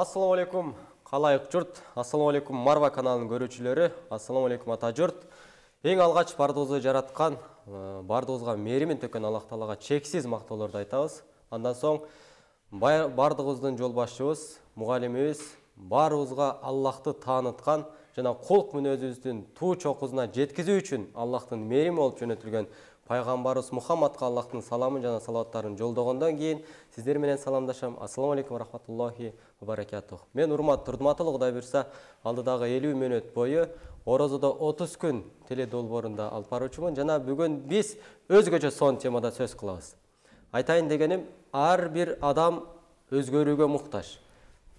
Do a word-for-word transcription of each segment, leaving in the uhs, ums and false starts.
Ассаламу алейкум, калайык журт. Ассаламу алейкум, Марва каналынын көрүүчүлөрү. Ассаламу алейкум, ата журт. Эң алгач бардыгыбызды жараткан, бардыгыбызга мээримин төккөн Аллах Таалага чексиз мактоолорду айтабыз. Андан соң бардыгыбыздын жол башчыбыз, мугалимибиз баарыбызга Аллахты тааныткан жана колк мүнөзүбүздүн туу чокусуна жеткизүү үчүн Аллахтын мээрими болуп жөнөтүлгөн пайгамбарыбыз Мухаммадка Аллахтын саламын жана салаваттарын жолдогондон кийин сиздер менен саламдашам. Ассаламу алейкум ва рахматуллахи ва баракатух. Мен урматтуу Турдуматулла Кудай буйрса, алдыдагы элүү мүнөт бою Орозодо отуз күн теле долбоорунда алып баруучумун жана бүгүн биз өзгөчө сон темада сөз кылабыз. Айтайын дегеним, ар бир адам өзгөрүүгө муктаж.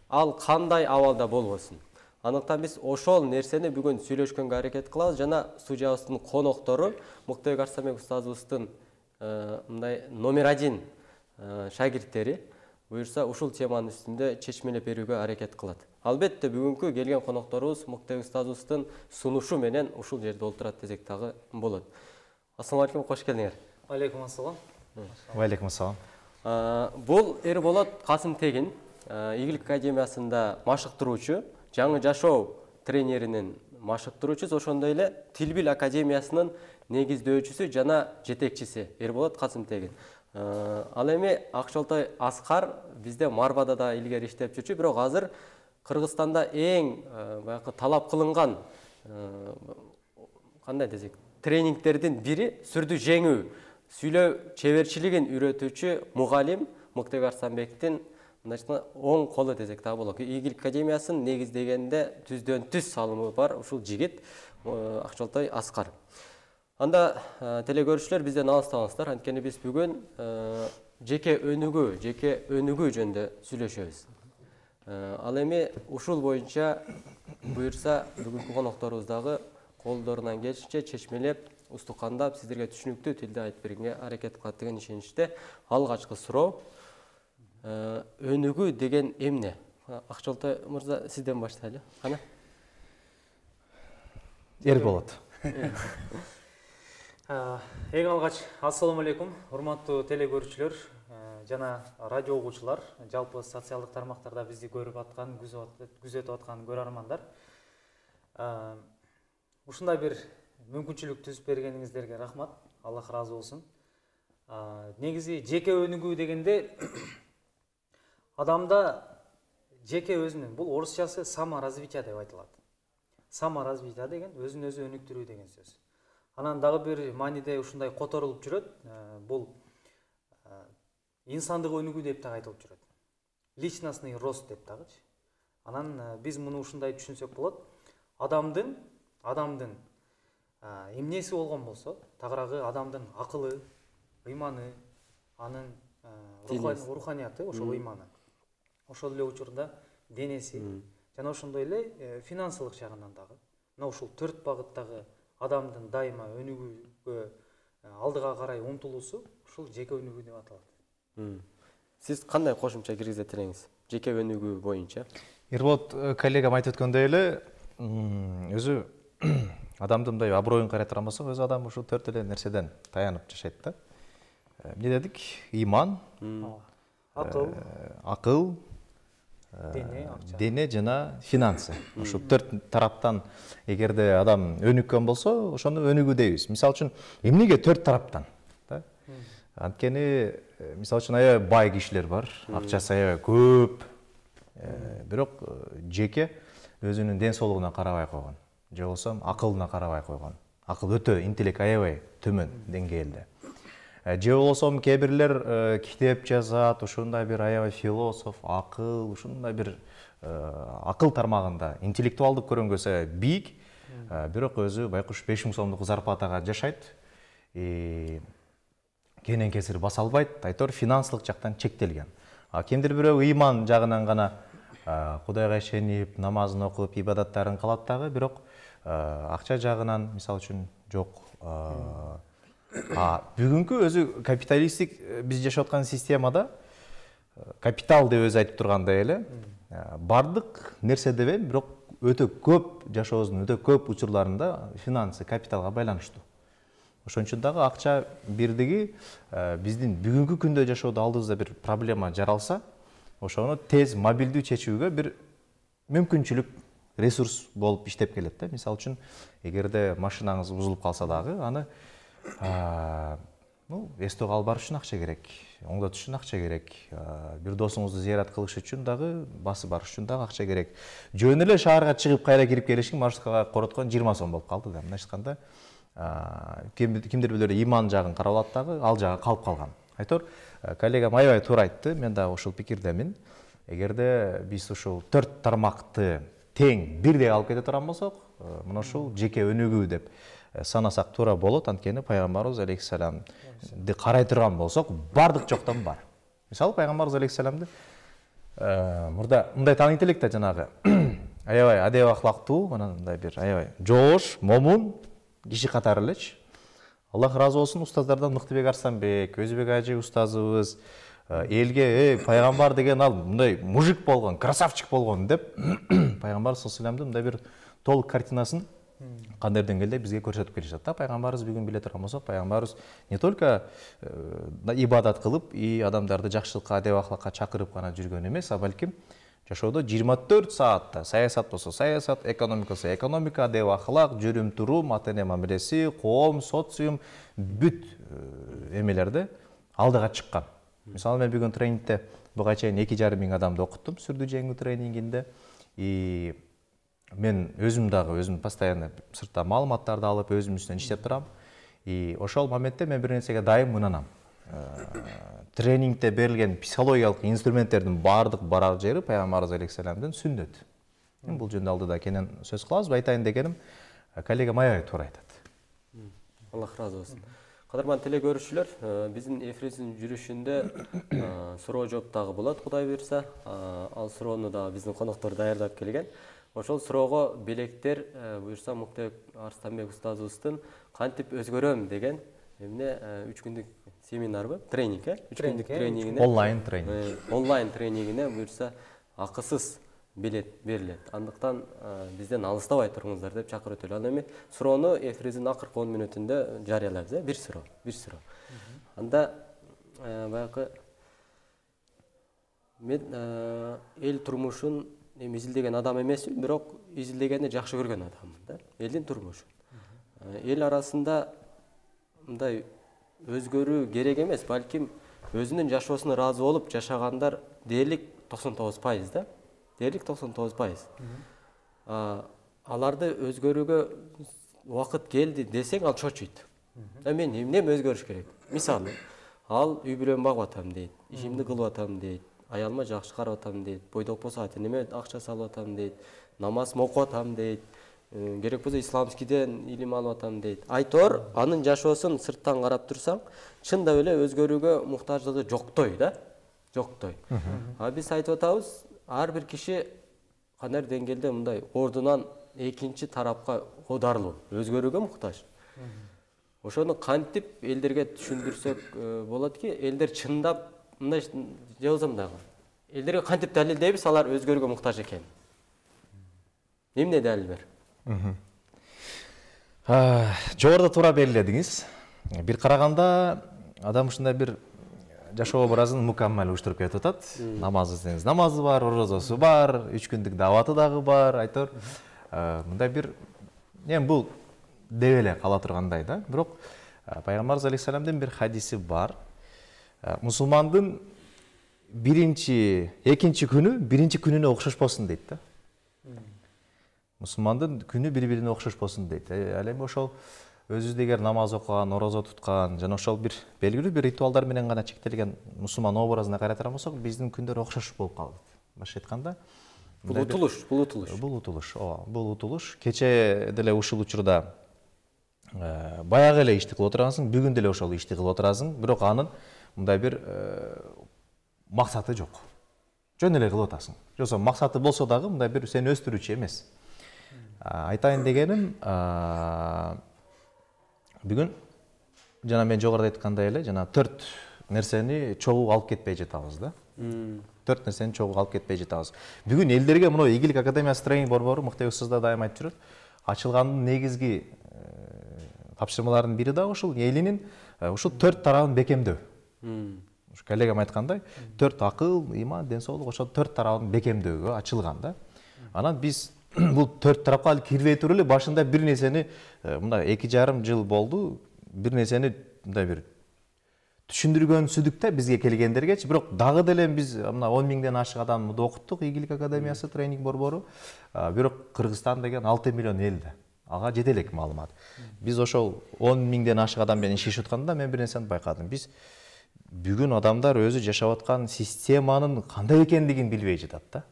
Ал кандай абалда болбосун. Анықтан біз ошол нерсени бүгүн сүйлөшкөнгө аракет кылабыз жана студиябыздын коноктору Муктебек Арсанбек устазыбыздын мындай номер один шагирттери буюрса ушул теманын үстүндө чечмелеп берүүгө аракет кылат. Албетте бүгүнкү келген конокторубуз Муктебек устазыбыздын сунушу менен ушул жерде олтурат десек дагы болот. Ассаламу алейкум, кош келдиңер. Алейкум ассалам. Алейкум ассалам. Бул Эрболот Касым Тегин, Игилик академиясында машыктыруучу, жаңы жашоо тренеринин машыктыруучусу, ошондой эле Тил-бил академиясынын негиздөөчүсү жана жетекчиси Эрболот Касым Тегин. Ал эми Акчолтой Аскар бизде Марвада да илгери иштеп жүрчү, бирок азыр Кыргызстанда эң баягы талап кылынган кандай десек, тренингтердин бири сүрдү жеңүү, сүйлөө чеберчилигин үйрөтүүчү мугалим Муктебек Арсанбектин оң колу десек дагы болот. Игилик академиясын негиздегенде түздөн түз салымы бар ушул жигит Акчолтой Аскар. Анда телекөрүүчүлөр бизден алыстабаңыздар, анткени биз бүгүн жеке өнүгүү, жеке өнүгүү жөнүндө сүйлөшөбүз. Ал эми ушул боюнча буйрса бүгүнкү конокторубуз дагы колдорунан келишинче чечмелеп, устукандап, сиздерге түшүнүктүү тилде айтып бергенге аракет кылат деген ишеничте. Алгачкы суроо: өнүгүү деген эмне? Акчолтой мырза, сизден баштайлы. Кана? Эрболот. Эң алгач ассаламу алейкум, урматтуу телекөрүүчүлөр жана радио угуучулар, жалпы социалдык тармактарда бизди көрүп аткан, күзөтүп аткан көрөрмандар. Ушундай бир мүмкүнчүлүк түзүп бергениңиздерге рахмат. Аллах ыраазы болсун. Негизи жеке өнүгүү дегенде адамда жеке өзүнүн, бул орусчасы саморазвитие деп айтылат. Саморазвитие деген өзүн өзү өнүктүрүү деген сөз. Анан дагы бир мааниде ушундай которулуп жүрөт. Бул инсандык өнүгүү деп дагы айтылып жүрөт. Личностный рост деп дагычы. Анан биз муну ушундай түшүнсөк болот. Адамдын, адамдын эмнеси болгон болсо, тагыраагы адамдын акылы, ыйманы, анын руханияты, ошол ыйманы. Ошол эле учурда денеси жана ошондой эле финансылык жагынан дагы. Мына ушул төрт багыттагы адамдын дайыма өнүгүүгө алдыга карай умтулуусу ушул жеке өнүгүү деп аталат. Сиз кандай кошумча киргизет элеңиз жеке өнүгүү боюнча? Эрболот коллегам айтып өткөндөй эле, өзү адамдын мындай аброюн карай турган болсок, өзү адам ушул төрт эле нерседен таянып жашайт да. Эмне дедик? Иман, акыл, акыл, дене, акча. Дене жана финансы. Ушул төрт тараптан эгерде адам өнүккөн болсо, ошону өнүгүү дейбиз. Мисалы үчүн, эмнеге төрт тараптан? Анткени, мисалы үчүн аябай бай кишилер бар, акчасы аябай көп, бирок жеке өзүнүн ден соолугуна карабай койгон, же болбосо акылына карабай койгон. Акыл өтө, интеллект аябай төмөн деңгээлде. Же болбосо кээ бирлер китеп жазат, ушундай бир аябай философ, акыл, ушундай бир акыл тармагында интеллектуалдык көрөнгөсө бийик, бирок өзү байкуш беш миң сомдук зарплатага жашайт. Кенен кесир баса албайт, айтор финансылык жактан чектелген. А кимдир бирөө ыйман жагынан гана Кудайга ишенип, намазын окуп, ибадаттарын кылат дагы, бирок акча жагынан мисалы үчүн жок. А бүгүнкү өзү капиталисттик биз жашап аткан системада капитал деп өзү айтып тургандай эле, бардык нерсе деп эми, бирок өтө көп жашообуздун өтө көп учурларында финансы, капиталга байланыштуу. Ошон үчүн дагы акча бирдиги биздин бүгүнкү күндө жашоодо алдыбызда бир проблема жаралса, ошону тез мобилдүү чечүүгө бир мүмкүнчүлүк, ресурс болуп иштеп келет да. Мисалы үчүн, эгерде машинаңыз бузулуп калса дагы, аны ну, эстөө калып барыш үчүн акча керек, оңдотуш үчүн акча керек, бир досуңузду зыярат кылыш үчүн дагы, басып барыш үчүн дагы акча керек. Жөн эле шаарга чыгып кайра кирип келишин маршруткага короткон жыйырма сом болуп калды да. Мындайча айтканда, кимдир бирөө иман жагын карап алат дагы, ал жагы калып калган. Айтор, коллегам аябай туура айтты, мен дагы ушул пикирдемин. Эгерде биз ушул төрт тармакты тең бирдей алып кете турган болсок, мына ушул жеке өнүгүү деп санасак туура болот. Анткени пайгамбарыбыз алейхиссаламды карай турган болсок, бардык жоктон бар. Мисалы, пайгамбарыбыз алейхиссаламды мурда мындай тааныйт элек да, жанагы аябай адеп ахлактуу, мындай бир аябай жоош, момун киши катары элечи. Аллах разы болсун, устаздардан Мыктыбек Арстанбек, Өзбек ажы устазыбыз элге, эй, пайгамбар деген ал мындай мужик болгон, красавчик болгон деп пайгамбар саллаллаху алейхи вассаламдын мындай бир толук картинасын кандай деңгээлде бизге көрсөтүп келишет да. Пайгамбарыбыз бүгүн биле турган болсок, пайгамбарыбыз не только ибадат кылып, и адамдарды жакшылыкка, адеп ахлакка чакырып гана жүргөн эмес, а балким жашоодо жыйырма төрт саатта саясат болсо саясат, экономика болсо экономика, адеп ахлак, жүрүм турум, ата эне мамилеси, коом, социум, бүт эмелерде алдыга чыккан. Мисалы, мен бүгүн тренингде буга чейин эки жарым миң адамды окуттум сүрдүү жеңүү тренингинде. И мен өзүм дагы өзүм постоянно сыртта маалыматтарды алып, өзүм үстүнөн иштеп турам. И ошол моментте мен бир нерсеге дайым ынанам. Тренингде берилген психологиялык инструменттердин баардык барар жери пайгамбарыбыз алейхиссаламдын сүннөтү. Мен бул жөнүндө алдыда кенен сөз кылабыз. Айтайын дегеним, коллегам аябай туура айтат. Аллах разы болсун. Кадырман теле көрүүчүлөр, биздин эфирибиздин жүрүшүндө суроо жооп дагы болот, Кудай буйрса. Ал суроону да биздин коноктор даярдап келген. Ошол суроого белектер буйрса Мыктыбек Арстанбек устазыбыздын кантип өзгөрөм деген эмне үч күндүк семинарбы, тренинг, э? үч күндүк тренингине, онлайн тренинг. Онлайн тренингине буйрса акысыз билет берилет. Андыктан бизден алыстабай туруңуздар деп чакырып өтөлү. Ал эми суроону эфирибиздин акыркы он мүнөтүндө жарыялайбыз, э? Бир суроо, бир суроо. Анда баягы мен эл турмушун эми изилдеген адам эмесмин, бирок изилдегенди жакшы көргөн адаммын да. Элдин турмушун. Эл арасында мындай өзгөрүү керек эмес, балким өзүнүн жашоосуна ыраазы болуп жашагандар дээрлик токсон тогуз пайыз да. Дээрлик токсон тогуз пайыз. Аларды өзгөрүүгө убакыт келди десең, ал чочуйт. Мен эмне өзгөрүш керек? Мисалы, ал үй бүлөм багып атам дейт, ишимди кылып атам дейт, аялыма жакшы карап атам дейт, бойдок болсо ата энеме акча салып атам дейт, намаз окуп атам дейт, керек болсо исламскийден илим алып атам дейт. Айтор, анын жашоосун сырттан карап турсаң, чындап эле өзгөрүүгө муктаждыгы жоктой да, жоктой. А биз айтып атабыз, ар бир киши кандай деңгээлде мындай ордунан экинчи тарапка оодарылуу, өзгөрүүгө муктаж. Ошону кантип элдерге түшүндүрсөк болот ки, элдер чындап мындай же болсо мындагы. Элдерге кантип далилдейбиз алар өзгөрүүгө муктаж экен? Эмне далил бер? Жогоруда туура белгиледиңиз. Бир караганда адам ушундай бир жашоо образын мукаммал уюштуруп кетип атат. Намаз десеңиз намазы бар, орозосу бар, үч күндүк даваты дагы бар, айтор. Мындай бир эми бул деп эле кала тургандай да. Бирок пайгамбарыбыз алейхиссаламдын бир хадиси бар. Мусулмандын биринчи, экинчи күнү биринчи күнүнө окшошпосун дейт да. Мусулмандын күнү бири-бирине окшошпосун дейт. Ал эми ошол өзүбүз эгер намаз окуган, орозо туткан жана ошол бир белгилүү бир ритуалдар менен гана чектелген мусулман образына карай турган болсок, биздин күндөр окшош болуп калат. Башка айтканда, бул утулуш, бул утулуш. Бул утулуш, ооба, бул утулуш. Кече деле ушул учурда баягы эле ишти кылып отурасың, бүгүн деле ошол ишти кылып отурасың, бирок анын мындай бир максаты жок. Жөн эле кылып атасың. Жоксо максаты болсо дагы мындай бир сени өстүрүүчү эмес. Айтайын дегеним, бүгүн жана мен жогоруда айткандай эле, жана төрт нерсени чогуу алып кетпей жатабыз да. Төрт нерсени чогуу алып кетпей жатабыз. Бүгүн элдерге мына Ийгилик академиясы тренинг борбору Мыктыбек устаз да дайым айтып жүрөт. Ачылгандын негизги тапшырмаларынын бири да ушул элинин ушул төрт тарабын бекемдөө. коллегам айткандай, төрт акыл, иман, ден соолук ошол төрт тарабын бекемдөөгө ачылган да. Анан биз бул төрт тарапка ал кирбей туруп эле башында бир нерсени, мындай эки жарым жыл болду, бир нерсени мындай бир түшүндүргөнсүздүк да бизге келгендергечи, бирок дагы деле биз мына он миңден ашык адамды окуттук Ийгилик академиясы тренинг борбору, бирок Кыргызстан деген алты миллион эл да. Ага жете элек маалымат. Биз ошол он миңден ашык адам менен иштешип атканда мен бир нерсени байкадым. Биз бүгүн адамдар өзү жашап аткан системанын кандай экендигин билбей жатат да.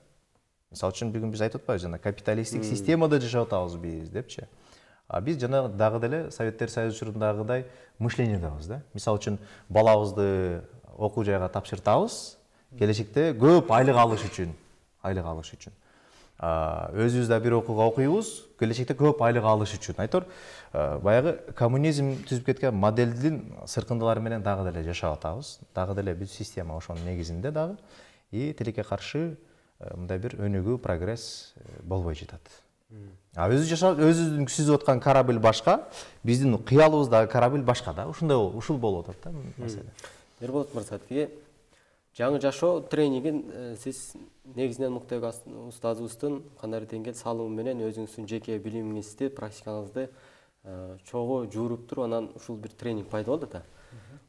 Мисалы үчүн бүгүн биз айтып атпайбыз жана капиталисттик системада жашап атабыз биз депчи. А биз жана дагы деле Советтер Союзу учурундагыдай мышлениедабыз да. Мисалы үчүн балабызды окуу жайга тапшыртабыз, келечекте көп айлык алыш үчүн, айлык алыш үчүн. Өзүбүз да бир окууга окуйбуз, келечекте көп айлык алыш үчүн. Айтор, баягы коммунизм түзүп кеткен моделдин сыркындылары менен дагы деле жашап атабыз. Дагы деле биз система ошонун негизинде дагы и тилекке каршы мындай бир өнүгүү, прогресс болбой жатат. А өзү жашап, өзүнүн сүзүп аткан корабль башка, биздин кыялыбыздагы корабль башка да. Ушундай ушул болуп атат да маселе. Эрболот мырза, тиги жаңы жашоо тренингин сиз негизинен Муктебек устазыбыздын кандай деңгел салымы менен өзүңүздүн жеке билимиңизди, практикаңызды чогуу жууруп туруп анан ушул бир тренинг пайда болду да.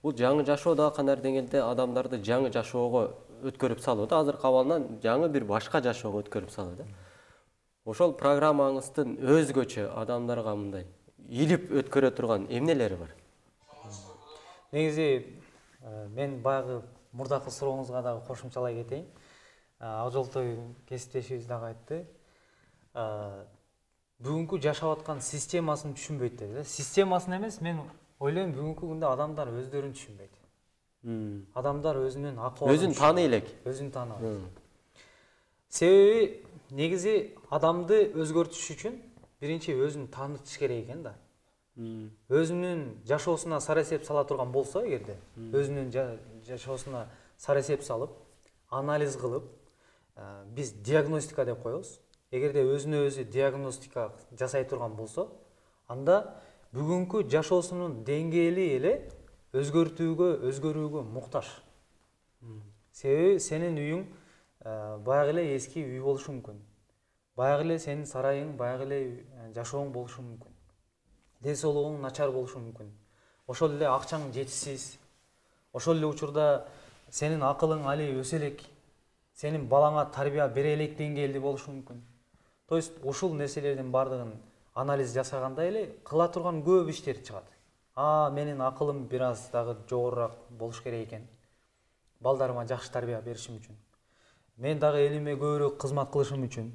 Бул жаңы жашоо да кандай деңгелде адамдарды жаңы жашоого өткөрүп салуу да, азыркы абалынан жаңы бир башка жашоого өткөрүп салуу да. Ошол программаңыздын өзгөчө адамдарга мындай илип өткөрө турган эмнелери бар? Негизи мен баягы мурдакы сурооңузга дагы кошумчалай кетейин. Акжолтой кесиптешибиз дагы айтты. Бүгүнкү жашап аткан системасын түшүнбөйт деди. Системасын эмес, мен ойлойм бүгүнкү күндө адамдар өздөрүн түшүнбөйт. Адамдар өзүнүн акыбалын өзүн тааный элек. Өзүн тааныбайт. Себеби негизи адамды өзгөртүш үчүн биринчи өзүн таанытыш керек экен да. Өзүнүн жашоосуна сарасеп сала турган болсо, эгерде өзүнүн жашоосуна сарасеп салып, анализ кылып, биз диагностика деп коебуз. Эгерде өзүнө өзү диагностика жасай турган болсо, анда бүгүнкү жашоосунун деңгээли эле өзгөртүүгө, өзгөрүүгө муктаж. Себеби сенин үйүң баягы эле эски үй болушу мүмкүн. Баягы эле сенин сарайың, баягы эле жашооң болушу мүмкүн. Ден соолугуң начар болушу мүмкүн. Ошол эле акчаң жетишсиз. Ошол эле учурда сенин акылың али өсө элек. Сенин балаңа тарбия бере элек деңгээлде болушу мүмкүн. То есть ушул нерселердин бардыгын анализ жасаганда эле кыла турган көп иштер чыгат. А, менин акылым бир аз дагы жогорураак болуш керек экен. Балдарыма жакшы тарбия беришим үчүн. Мен дагы элиме көбүрөөк кызмат кылышым үчүн,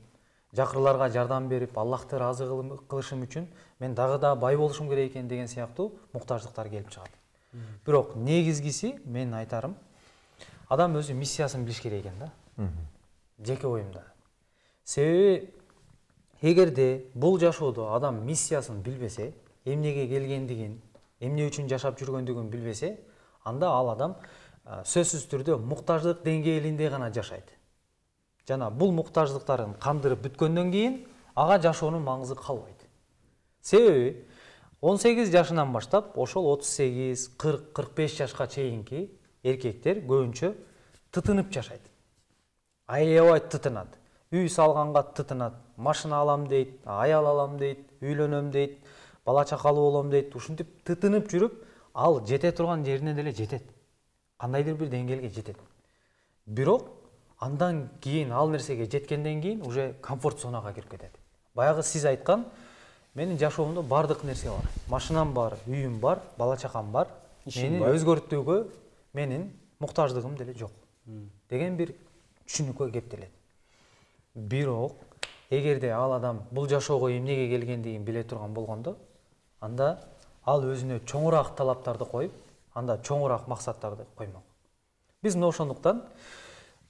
жакырларга жардам берип, Аллахты ыраазы кылышым үчүн мен дагы да бай болушум керек экен деген сыяктуу муктаждыктар келип чыгат. Бирок негизгиси мен айтарым, адам өзү миссиясын билиш керек экен да. Жеке оюмда. Себеби эгерде бул жашоодо адам миссиясын билбесе, эмнеге келгендигин, эмне үчүн жашап жүргөндүгүн билбесе, анда ал адам сөзсүз түрдө муктаждык деңгээлинде гана жашайт. Жана бул муктаждыктарын кандырып бүткөндөн кийин ага жашоонун маңызы калбайт. Себеби он сегиз жашынан баштап ошол отуз сегиз, кырк, кырк беш жашка чейинки эркектер көбүнчө тытынып жашайт. Аябай тытынат. Үй салганга тытынат, машина алам дейт, аял алам дейт, үйлөнөм дейт, бала чакалуу болом дейт. Ушинтип тытынып жүрүп, ал жете турган жерине деле жетет. Кандайдыр бир деңгээлге жетет. Бирок андан кийин ал нерсеге жеткенден кийин уже комфорт зонага кирип кетет. Баягы сиз айткан, менин жашоомдо бардык нерсе бар. Машинам бар, үйүм бар, бала чакам бар. Мени өзгөртүүгө менин муктаждыгым деле жок. Деген бир түшүнүккө кептелет. Бирок эгерде ал адам бул жашоого эмнеге келгендигин биле турган болгондо, анда ал өзүнө чоңураак талаптарды коюп, анда чоңураак максаттарды коймок. Биз мына ошондуктан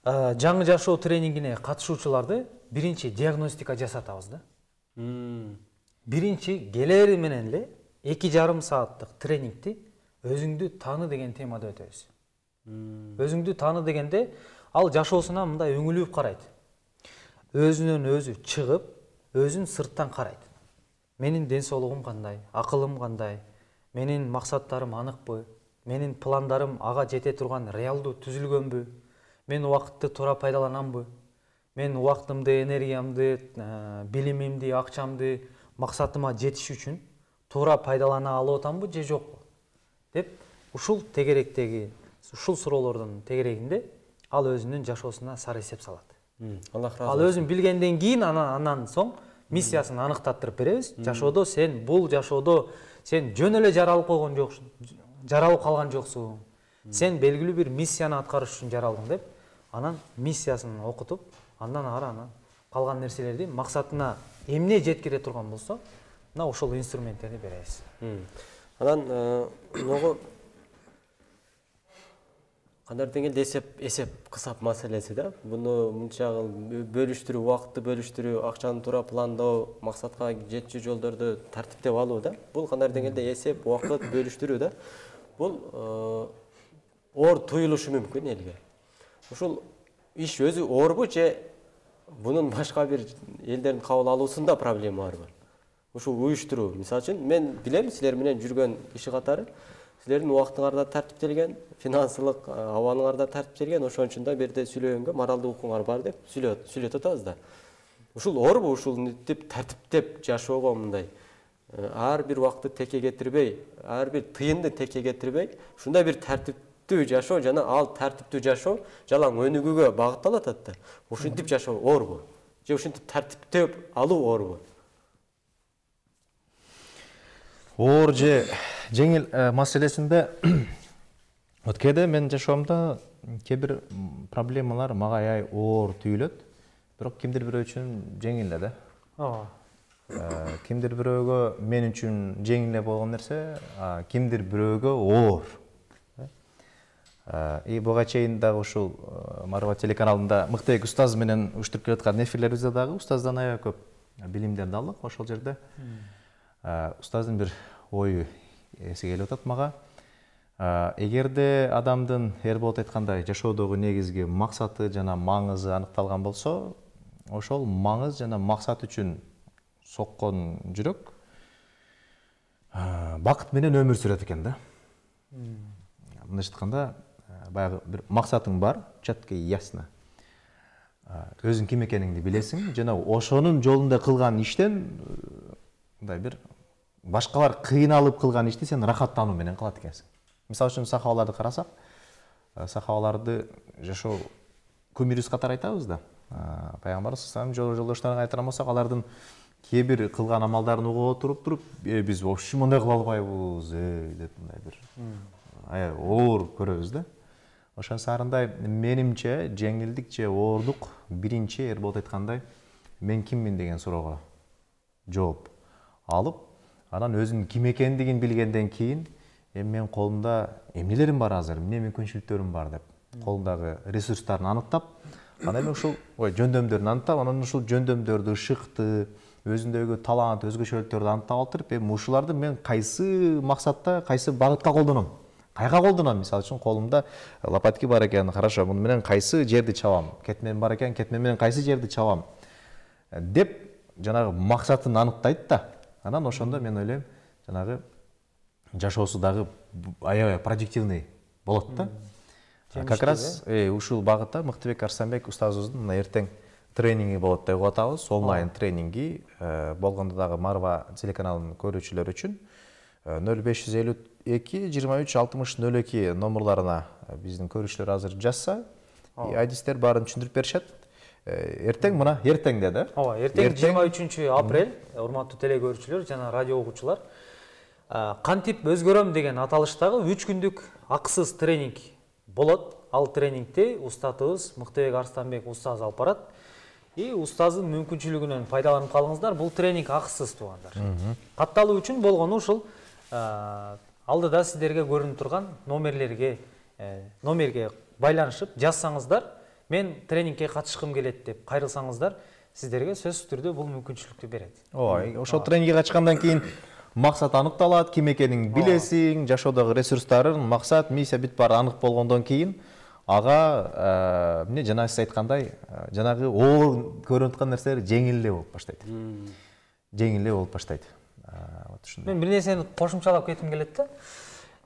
жаңы жашоо тренингине катышуучуларды биринчи диагностика жасатабыз да. Биринчи келери менен эле эки жарым сааттык тренингти өзүңдү тааны деген темада өтөбүз. Өзүңдү тааны дегенде ал жашоосуна мындай өңүлүп карайт. Өзүнөн өзү чыгып, өзүн сырттан карайт. Менин ден соолугум кандай, акылым кандай, менин максаттарым аныкпы, менин пландарым ага жете турган реалдуу түзүлгөнбү, мен убакытты туура пайдаланамбы, мен убактымды, энергиямды, билимимди, акчамды максатыма жетиш үчүн туура пайдалана алып атамбы же жокпу деп ушул тегеректеги ушул суроолордун тегерегинде ал өзүнүн жашоосуна сары эсеп салат. Аллах разы Ал өзүн билгенден кийин анан соң миссиясын аныктаттырып беребиз. Жашоодо сен бул жашоодо сен жөн эле жаралып койгон жоксуң, жаралып калган жоксуң. Сен белгилүү бир миссияны аткарыш үчүн жаралдың деп, анан миссиясын окутуп, андан ары анан калган нерселерди максатына эмне жеткире турган болсо, мына ошол инструменттерди беребиз. Анан могу кандай деңгээлде эсеп эсеп кысап маселеси да. Буну мынча бөлүштүрүү, убакытты бөлүштүрүү, акчаны туура пландоо, максатка жетчү жолдорду тартиптеп алуу да. Бул кандай деңгээлде эсеп, убакыт бөлүштүрүү да. Бул оор туюлушу мүмкүн элге. Ушул иш өзү оорбу же бунун башка бир элдердин кабыл алуусунда проблема барбы? Ушул уюштуруу, мисалы үчүн мен билем силер менен жүргөн иши катары силердин убактыңар да тартиптелген, финансылык абалыңар да тартиптелген, ошон үчүн да берде сүйлөгөнгө моралдык укуңар бар деп сүйлөтүп атабыз да. Ушул оорбу, ушул деп тартиптеп жашоого мындай ар бир убакытты текке кетирбей, ар бир тыйынды текке кетирбей, ушундай бир тартиптүү жашоо жана ал тартиптүү жашоо жалаң өнүгүүгө багытталып атат да. Ушинтип жашоо оорбу? Же ушинтип тартиптеп алуу оорбу? Оор же жеңил маселесинде вот кээде мен жашоомдо кээ бир проблемалар мага аябай оор түйүлөт, бирок кимдир бирөө үчүн жеңил эле да. Ооба. Кимдир бирөөгө мен үчүн жеңил эле болгон нерсе, кимдир бирөөгө оор. И буга чейин дагы ушул Марва телеканалында Мыктыбек устаз менен уюштуруп келаткан эфирлерибизде дагы устаздан аябай көп билимдерди алдык. Ошол жерде устаздын бир ою эсиге келип атат мага. Эгерде адамдын Эрболот айткандай жашоодогу негизги максаты жана маңызы аныкталган болсо, ошол маңыз жана максат үчүн соккон жүрөк бакыт менен өмүр сүрөт экен да. Мындайча айтканда, баягы бир максатың бар, четко и ясно. Өзүң ким экениңди билесиң жана ошонун жолунда кылган иштен мындай бир башкалар кыйналып кылган ишти сен рахаттануу менен кылат экенсиң. Мисалы үчүн сахабаларды карасак, сахабаларды жашоо күмүрүс катары айтабыз да. Пайгамбарыбыз саллаллаху алейхи вассалам жолдошторун кайтарган болсок, алардын кээ бир кылган амалдарын угуп отуруп туруп, биз вообще мындай кыла албайбыз, деп мындай бир аябай оор көрөбүз да. Ошон сарындай менимче жеңилдик же оорлук биринчи Эрболот айткандай мен киммин деген суроого жооп алып, анан өзүнүн ким экендигин билгенден кийин эми менин колумда эмнелерим бар азыр, эмне мүмкүнчүлүктөрүм бар деп колундагы ресурстарын аныктап, анан эми ушул жөндөмдөрүн аныктап, анан ушул жөндөмдөрдү, ышыкты, өзүндөгү талант, өзгөчөлүктөрдү аныктап алып, эми ушуларды мен кайсы максатта, кайсы багытка колдоном? Кайга колдоном? Мисалы үчүн колумда лопатки бар экен, хорошо, муну менен кайсы жерди чабам? Кетмен бар экен, кетмен менен кайсы жерди чабам? Деп жанагы максатын аныктайт да. Анан ошондо мен ойлойм, жанагы жашоосу дагы аябай продуктивный болот да. Как раз ушул багытта Мыктыбек Арстанбек устазыбыздын мына эртең тренинги болот деп атабыз, онлайн тренинги болгондо дагы Марва телеканалынын көрүүчүлөрү үчүн нөл беш жүз элүү эки жыйырма үч алтымыш нөл эки номерларына биздин көрүүчүлөр азыр жазса, айдистер баарын түшүндүрүп беришет. Эртең мына эртеңде да. Ооба, эртең жыйырма үчүнчү апрель, урматтуу телекөрүүчүлөр жана радио угуучулар, кантип өзгөрөм деген аталыштагы үч күндүк акысыз тренинг болот. Ал тренингти устатыбыз Мыктыбек Арстанбек устаз алып барат. И устаздын мүмкүнчүлүгүнөн пайдаланып калыңыздар. Бул тренинг акысыз туугандар. Катталуу үчүн болгону ушул алдыда сиздерге көрүнүп турган номерлерге номерге байланышып жазсаңыздар, мен тренингке катышкым келет деп кайрылсаңыздар, сиздерге сөзсүз түрдө бул мүмкүнчүлүктү берет. Ооба, ошол тренингге катышкандан кийин максат аныкталат, ким экениңди билесиң, жашоодогу ресурстарың, максат, миссия бүт баары анык болгондон кийин ага эмне жана сиз айткандай, жанагы оор көрүнүп аткан нерселер жеңил эле болуп баштайт. Жеңил эле болуп баштайт. Мен бир нерсени кошумчалап кетким келет да.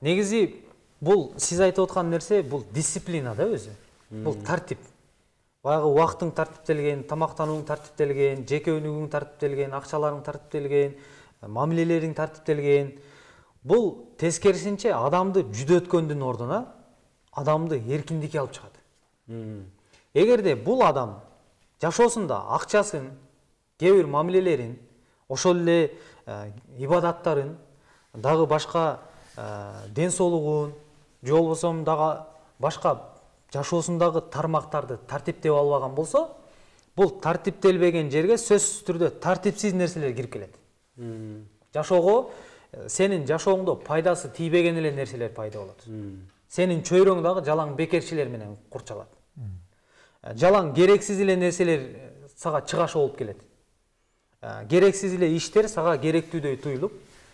Негизи бул сиз айтып аткан нерсе бул дисциплина да өзү. Бул тартип. Баягы убактың тартиптелген, тамактанууң тартиптелген, жеке өнүгүүң тартиптелген, акчаларың тартиптелген, мамилелериң тартиптелген. Бул тескерисинче адамды жүдөткөндүн ордуна адамды эркиндикке алып чыгат. Эгерде бул адам жашоосунда акчасын, кээ бир мамилелерин, ошол эле ибадаттарын, дагы башка ден соолугун, же болбосо дагы башка жашоосундагы тармактарды тартиптеп албаган болсо, бул тартиптелбеген жерге сөзсүз түрдө тартипсиз нерселер кирип келет. Жашоого сенин жашооңдо пайдасы тийбеген эле нерселер пайда болот. Сенин чөйрөң дагы жалаң бекерчилер менен курчалат. Жалаң керексиз эле нерселер сага чыгашы болуп келет. Керексиз эле иштер сага керектүүдөй туюлуп,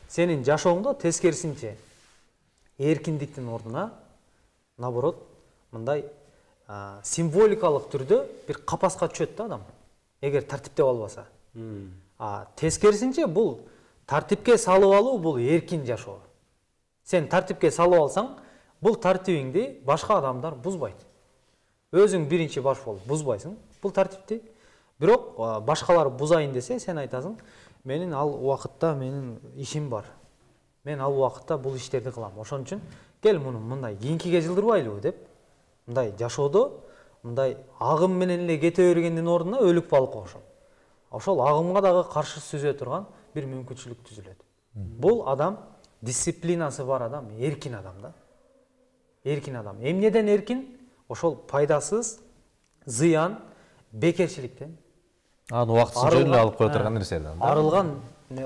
сенин жашооңдо тескерисинче эркиндиктин ордуна наоборот мындай символикалык түрдө бир капаска түшөт да адам, эгер тартиптеп албаса. А тескерисинче бул тартипке салып алуу бул эркин жашоо. Сен тартипке салып алсаң, бул тартибиңди башка адамдар бузбайт. Өзүң биринчи баш болуп бузбайсың бул тартипти. Бирок башкалар бузайын десе, сен айтасың, менин ал убакытта менин ишим бар. Мен ал убакытта бул иштерди кылам. Ошон үчүн кел муну мындай кийинкиге жылдырбайлыбы деп, мындай жашоодо мындай агым менен эле кете бергендин ордуна өлүк балыкка окшоп. Ошол агымга дагы каршы сүзө турган бир мүмкүнчүлүк түзүлөт. Бул адам дисциплинасы бар адам, эркин адам да. Эркин адам. Эмнеден эркин? Ошол пайдасыз, зыян, бекерчиликтен. Аны убактысы жөн эле алып кое турган нерселерден. Арылган,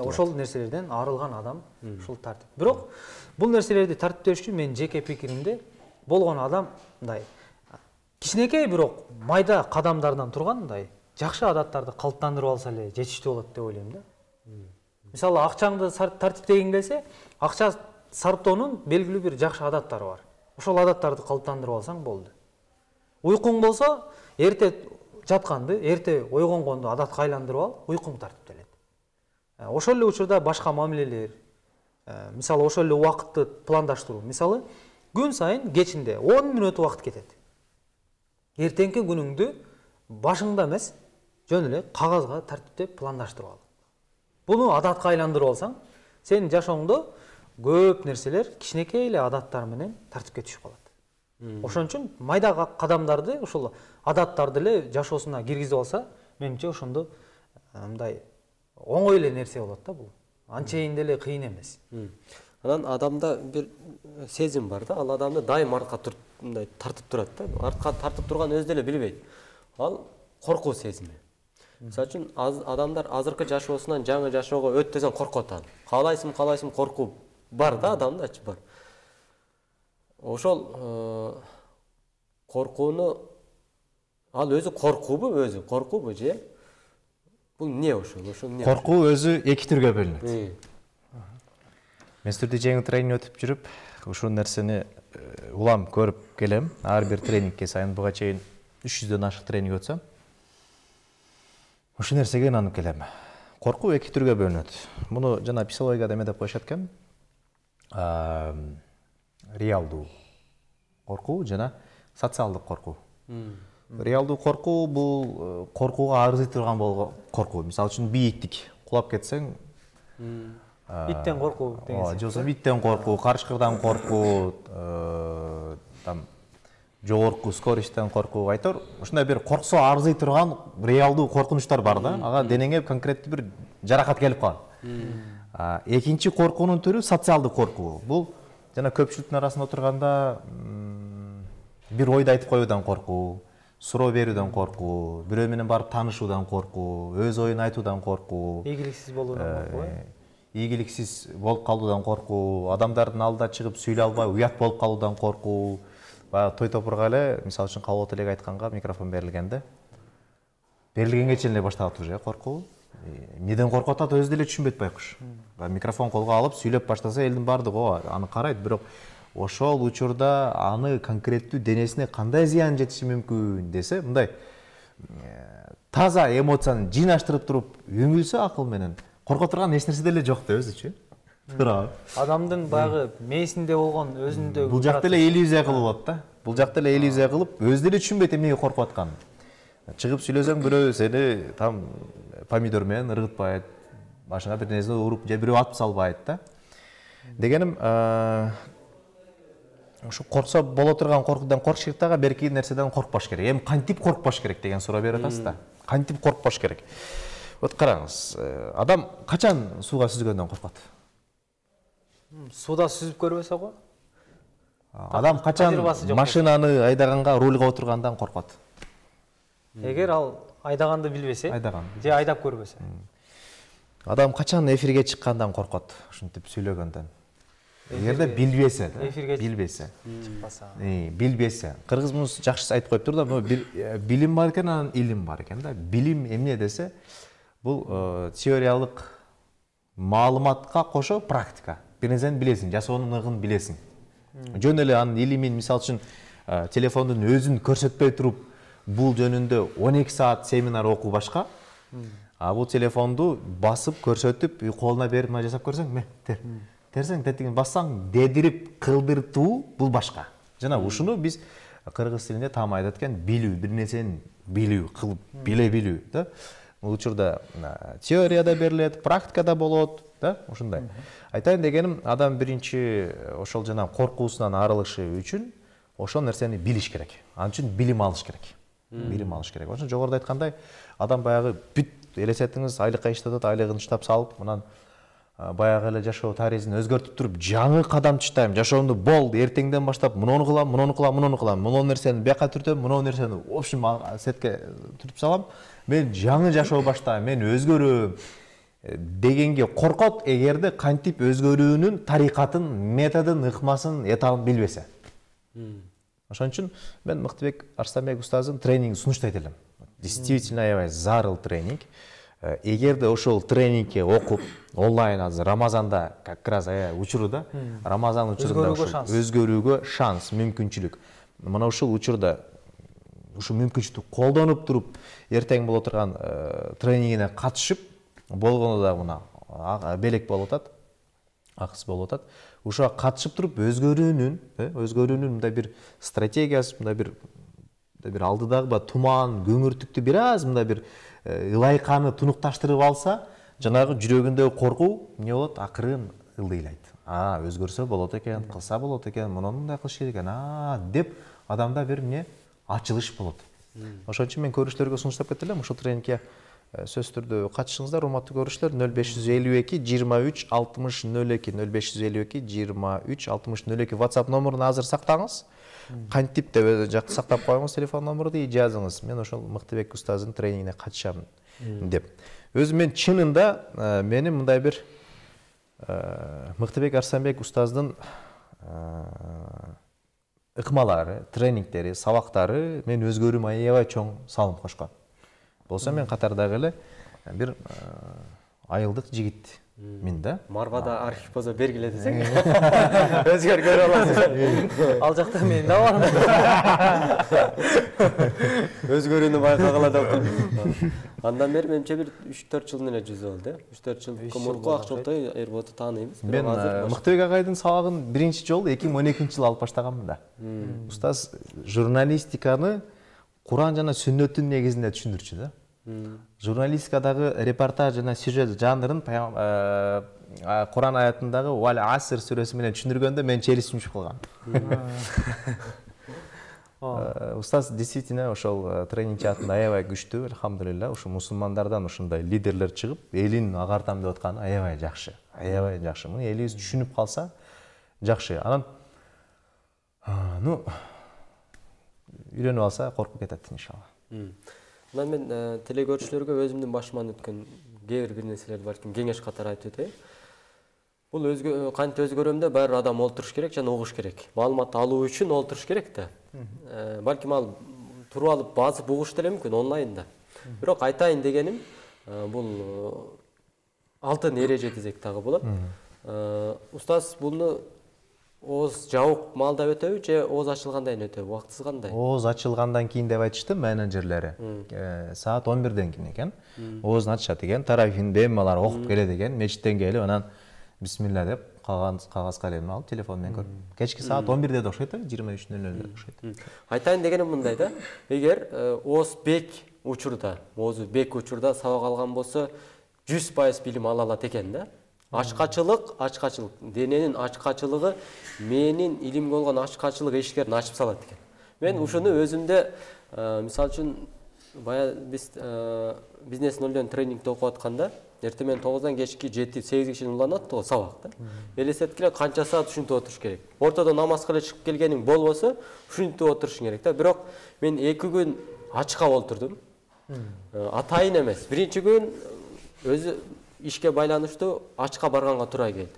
ошол нерселерден арылган адам ушул тартип. Бирок бул нерселерди тартиптеш үчүн менин жеке пикиримде болгон адам мындай кичинекей бирок майда кадамдардан турган мындай жакшы адаттарды калыптандырып алса эле жетиштүү болот деп ойлойм да. Мисалы, акчаңды тартиптегиң келсе, акча сарптоонун белгилүү бир жакшы адаттары бар. Ошол адаттарды калыптандырып алсаң болду. Уйкуң болсо, эрте жатканды, эрте ойгонгонду адатка айландырып ал, уйкуң тартиптелет. Ошол эле учурда башка мамилелер, мисалы ошол эле убакытты пландаштыруу. Мисалы, күн сайын кечинде он мүнөт убакыт кетет. Эртеңки күнүңдү башыңда эмес, жөн эле кагазга тартиптеп пландаштырып ал. Буну адатка айландырып алсаң, сенин жашооңдо көп нерселер кичинекей эле адаттар менен тартипке түшүп калат. Ошон үчүн майда кадамдарды, ошол адаттарды эле жашоосуна киргизип алса, менимче ошондо мындай оңой эле нерсе болот да бул. Анчейин деле кыйын эмес. Анан адамда бир сезим бар да, ал адамды дайым артка мындай тартып турат да. Артка тартып турган өзү деле билбейт. Ал коркуу сезими. Мисалы үчүн адамдар азыркы жашоосунан жаңы жашоого өт десең коркуп атат. Каалайсың, каалайсың коркуу бар да, адамдачы бар. Ошол коркууну ал өзү коркуубу, өзү коркуубу же бул эмне ошол? Ошол эмне? Коркуу өзү эки түргө бөлүнөт. Мен силерди жеңил тренинг өтүп жүрүп, ушул нерсени улам көрүп келем. Ар бир тренингке сайын буга чейин үч жүздөн ашык тренинг өтсөм, ушул нерсеге ынанып келем. Коркуу эки түргө бөлүнөт. Муну жана психологияда эме деп коюшат экен. Реалдуу коркуу жана социалдык коркуу. Реалдуу коркуу бул коркууга арзый турган болгон коркуу. Мисалы үчүн бийиктик, кулап кетсең, иттен коркуу деген же болбосо иттен коркуу, карышкырдан коркуу, там жогорку скоросттен коркуу айтор. Ушундай бир корксо арзый турган реалдуу коркунучтар бар да. Ага денеңе конкреттүү бир жаракат келип калат. Экинчи коркуунун түрү социалдык коркуу. Бул жана көпчүлүктүн арасында отурганда бир ойду айтып коюудан коркуу, суроо берүүдөн коркуу, бирөө менен барып таанышуудан коркуу, өз оюн айтуудан коркуу, ийгиликсиз болуудан коркуу. Ийгиликсиз болуп калуудан коркуу, адамдардын алдына чыгып сүйлөй албай уят болуп калуудан коркуу. Баягы той топурга эле, мисалы үчүн Калбот элеге айтканга микрофон берилгенде, берилгенге чейин эле башталат уже коркуу. Эмнеден коркуп атат өзү деле түшүнбөйт байкуш. Микрофон колго алып сүйлөп баштаса элдин баардыгы аны карайт, бирок ошол учурда аны конкреттүү денесине кандай зыян жетиши мүмкүн десе, мындай таза эмоцияны жыйнаштырып туруп үңүлсө акыл менен корко турган эч нерсе деле жок да өзүчү. туура. Адамдын баягы мээсинде болгон өзүндө Бул жакта эле иллюзия кылып болот да. Бул жакта эле иллюзия кылып, өздөрү түшүнбөйт эмнеге коркуп атканын. Чыгып сүйлөсөң бирөө сени там помидор менен ыргытпайт, башыңа бир нерсе уруп же бирөө атып салбайт да. Дегеним, ушу корксо боло турган коркуудан коркуш керек дагы, берки нерседен коркпош керек. Эми кантип коркпош керек деген суроо берип атасыз да. Кантип коркпош керек? Вот караңыз, адам качан сууга сүзгөндөн коркот? Сууда сүзүп көрбөсө го? Адам качан машинаны айдаганга, рульга отургандан коркот? Эгер ал айдаганды билбесе, Айдаган. же айдап көрбөсө. Адам качан эфирге чыккандан коркот? Ушинтип сүйлөгөндөн. Эгерде билбесе, эфирге билбесе. Чыкпаса. Билбесе. Кыргызымыз жакшы айтып коюптур да, билим бар экен, анан илим бар экен да. Билим эмне десе, бул теориялык маалыматка кошо практика. Бир нерсени билесиң, жасоонун ыгын билесиң. Жөн эле анын илимин, мисалы үчүн, телефондун өзүн көрсөтпөй туруп, бул жөнүндө он эки саат семинар окуу башка. А бул телефонду басып, көрсөтүп, колуна берип мына жасап көрсөң, ме, тер. Терсең, тетигин бассаң, дедирип, кылдыртуу бул башка. Жана ушуну биз кыргыз тилинде там айтат экен, билүү, бир нерсени билүү, кылып, биле билүү, да. Бул учурда теорияда берилет, практикада болот, да, ушундай. Айтайын дегеним, адам биринчи ошол жана коркуусунан арылышы үчүн ошол нерсени билиш керек. Ал үчүн билим алыш керек. Билим алыш керек. Ошон жогоруда айткандай, адам баягы бүт элестетиңиз, айлыкка иштетет, айлыгын иштеп салып, мынан баягы эле жашоо таризин өзгөртүп туруп, жаңы кадам чыштайм, жашоомду болду, эртеңден баштап муну кылам, муну кылам, муну кылам, муну нерсени бияка түртөм, муну нерсени в общем сетке түртүп салам, мен жаңы жашоо баштайм, мен өзгөрөм дегенге коркот, эгерде кантип өзгөрүүнүн тарикатын, методун, ыкмасын, этабын билбесе. Ошон үчүн мен Мыктыбек Арстанбек устаздын тренингин сунуштайт элем. Действительно аябай зарыл тренинг. Эгерде ошол тренингге окуп, онлайн азыр Рамазанда как раз учурда, Рамазан учурунда өзгөрүүгө шанс, мүмкүнчүлүк. Мына ушул учурда ушу мүмкүнчүлүктү колдонуп туруп, эртең боло турган тренингине катышып, болгону да мына белек болуп атат, акыс болуп атат. Ушуга катышып туруп өзгөрүүнүн, өзгөрүүнүн мындай бир стратегиясы, мындай бир бир алдыдагы туман, көңүртүктү бир аз мындай бир ылайканы тунукташтырып алса, жанагы жүрөгүндөгү коркуу эмне болот? Акырын ылдыйлайт. А, өзгөрсө болот экен, кылса болот экен, муну мындай кылыш керек экен, а деп адамда бир эмне ачылыш болот. Ошон үчүн мен көрүүчүлөргө сунуштап кетти элем, ушул тренингге сөзсүз түрдө катышыңыздар, урматтуу көрүүчүлөр. нөл беш жүз элүү эки жыйырма үч алтымыш нөл эки нөл беш жүз элүү эки жыйырма үч алтымыш нөл эки WhatsApp номерун азыр сактаңыз. Кантип деп жакты сактап коюңуз телефон номерду, жазыңыз. Мен ошол Мыктыбек устаздын тренингине катышам деп. Өзүм мен чынында менин мындай бир Мыктыбек Арстанбек устаздын ыкмалары, тренингдери, сабактары мен өзгөрүүмө аябай чоң салым кошкон. Болсо мен катардагы эле бир айылдык жигит мен да. Марвада архив болсо бергиле десең. Өзгөргөрө аласыз. Ал жакта мен да бармын. Өзгөрүүнү байкагыла деп. Андан бери менимче бир үч төрт жылдын эле жүзү болду, э. үч төрт жыл мурку Акчолтой Эрботу тааныйбыз. Мен Мыктыбек агайдын сабагын биринчи жолу эки миң он экинчи жылы алып баштаганмын да. Устаз журналистиканы Куран жана сүннөттүн негизинде түшүндүрчү да. Журналистикадагы репортаж жана сюжет жанрын Куран аятындагы Вал Аср сүрөсү менен түшүндүргөндө мен челисим түшүп калган. Устаз действительно ошол тренинг жаатында аябай күчтүү, элхамдулилла. Ушу мусулмандардан ушундай лидерлер чыгып, элин агартам деп атканы аябай жакшы. Аябай жакшы. Муну элибиз түшүнүп калса жакшы. Анан ну үйрөнүп алса коркуп кетет иншалла. Мына мен теле көрүүчүлөргө өзүмдүн башыман өткөн кээ бир нерселер бар экен, кеңеш катары айтып өтөйүн. Бул өзгө кантип өзгөрөм да баары адам олтуруш керек жана угуш керек. Маалымат алуу үчүн олтуруш керек да. Балким ал туруп алып басып угуш деле мүмкүн онлайнда. Бирок айтайын дегеним, бул алтын эреже десек дагы болот. Устаз буну ооз жабык маалда өтөбү же ооз ачылгандан кийин өтөбү? Убактысы кандай? Ооз ачылгандан кийин деп айтышты менеджерлери. Саат он бирден кийин экен. Оозун ачышат экен, тарафин бемалар окуп келет экен, мечиттен келип анан бисмилля деп кагаз калемин алып телефон менен көрүп кечки саат он бирде да окшойт эле жыйырма үч нөл нөлдө окшойт. Айтайын дегеним мындай да, эгер Оз Бек учурда, Озу Бек учурда сабак алган болсо жүз пайыз билим ала алат экен да. Ачкачылык, ачкачылык, дененин ачкачылыгы менин илимге болгон ачкачылык эшиктерин ачып салат экен. Мен ушуну өзүмдө, мисалы үчүн бая биз бизнес нөлдөн тренингде окуп атканда, эртең менен тогуздан кечки жети сегизге чейин уланат го сабак да. Элестетип келе канча саат ушинтип отуруш керек. Ортодо намаз кылып чыгып келгениң болбосо, ушинтип отурушуң керек да. Бирок мен эки күн ачка олтурдум. Атайын эмес. Биринчи күн өзү ишке байланыштуу ачка барганга туура келди.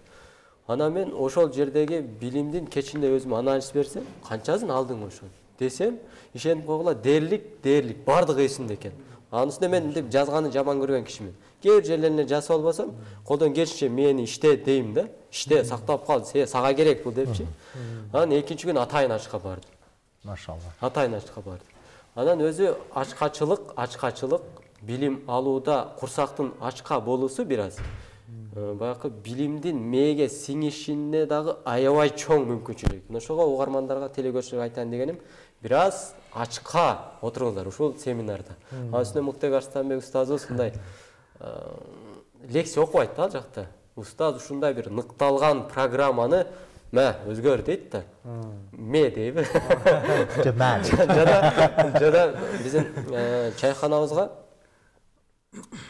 Анан мен ошол жердеги билимдин кечинде өзүм анализ берсем, канчасын алдың ошол десем, ишенип койгула дээрлик, дээрлик бардыгы эсимде экен. Анын үстүнө мен мынтип жазганы жаман көргөн кишимин. Кээ бир жерлерине жазып албасам, колдон келишинче мени иште дейм да. Иште сактап кал, сага керек бул депчи. Анан экинчи күн атайын ачка бардым. Машалла. Атайын ачка бардым. Анан өзү ачкачылык, ачкачылык билим алууда курсактын ачка болуусу бир аз баягы билимдин мээге сиңишине дагы аябай чоң мүмкүнчүлүк. Ошого угармандарга, телекөрүүчүлөргө айтайын дегеним, бир аз ачка отуруңуздар ушул семинарда. Анын үстүнө Муктайбек Арстанбек устазыбыз мындай лекция окубайт да ал жакта. Устаз ушундай бир ныкталган программаны мә өзгөр дейт да. Ме дейби? Жада жада биздин чайканабызга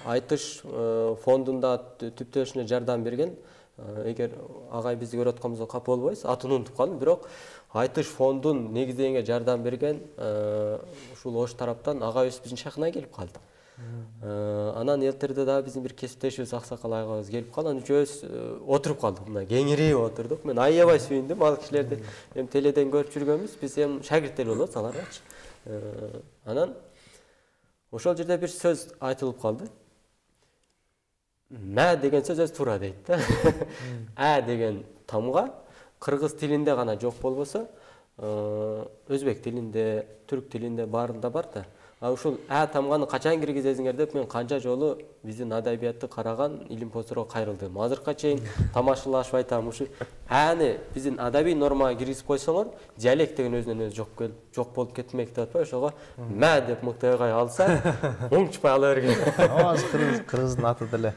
Айтыш фондунда түптөшүнө жардам берген. Эгер агай бизди көрүп атканыбызга капа болбойсуз, атын унутуп калдым, бирок Айтыш фондун негиздегенге жардам берген ушул Ош тараптан агайыбыз биздин чайканага келип калды. Анан элтерде дагы биздин бир кесиптешибиз Аксакал агайыбыз келип калды. Анан үчөөбүз отуруп калдык, мына кеңирип отурдук. Мен аябай сүйүндүм, ал кишилерди эми теледен көрүп жүргөнбүз, биз эми шагирттер болобуз аларгачы. Анан ошол жерде бир сөз айтылып калды. Мә деген сөз өзү туура дейт да. Ә деген тамга кыргыз тилинде гана жок болбосо, өзбек тилинде, түрк тилинде баарында бар да. А ушул ә тамганы качан киргизесиңер деп мен канча жолу биздин адабиятты караган илим посторго кайрылдым. Азыркыга чейин тамашалашып айтам, ушу әни биздин адабий нормага киргизип койсоңор, диалект деген өзүнөн өзү жок жок болуп кетмек деп атпайбы, ошого мә деп Муктайбек алса, оңчупай ала берген. Азыр кыргыздын аты деле